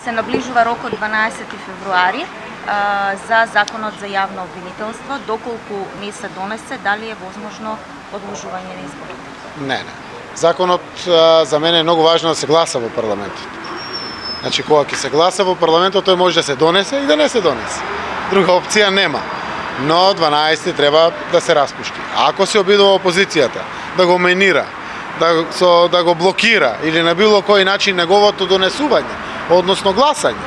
Се наближува рокот 12 февруари за законот за јавно обвинителство. Доколку не се донесе, дали е возможно одложување на изборите? Не. Законот за мене е многу важно да се гласа во парламентот. Значи, кога ќе се гласа во парламентот, тој може да се донесе и да не се донесе. Друга опција нема. Но 12 треба да се распушти. Ако се обидува опозицијата да го менира, да го блокира или на било кој начин неговото донесување, односно гласање,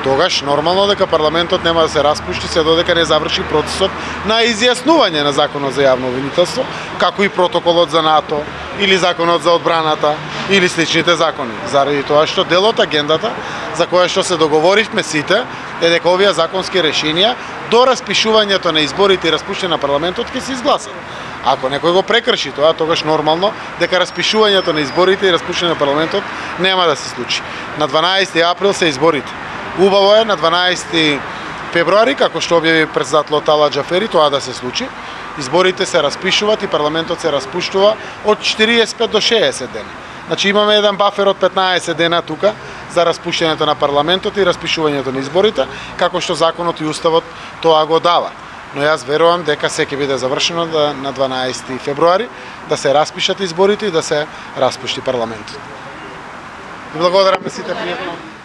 тогаш нормално дека парламентот нема да се распушти се додека не заврши процесот на изјаснување на законот за јавно обвинителство, како и протоколот за НАТО или законот за одбраната или сличните закони. Заради тоа што дел од агендата за која што се договоривме сите е дека овие законски решенија до распишувањето на изборите и распуштање на парламентот ќе се изгласат. Ако некој го прекрши тоа, тогаш нормално дека распишувањето на изборите и распуштање на парламентот нема да се случи. На 12 април се изборите. Убаво е на 12 февруари, како што објави претседателот Ала Џафери, тоа да се случи. Изборите се распишуваат и парламентот се распуштува од 45 до 60 дена. Значи имаме еден бафер од 15 дена тука за распуштањето на парламентот и распишувањето на изборите, како што законот и уставот тоа го дава. Но јас верувам дека се ќе биде завршено на 12 февруари да се распишат изборите и да се распушти парламентот. И благодарам на сите пријатно.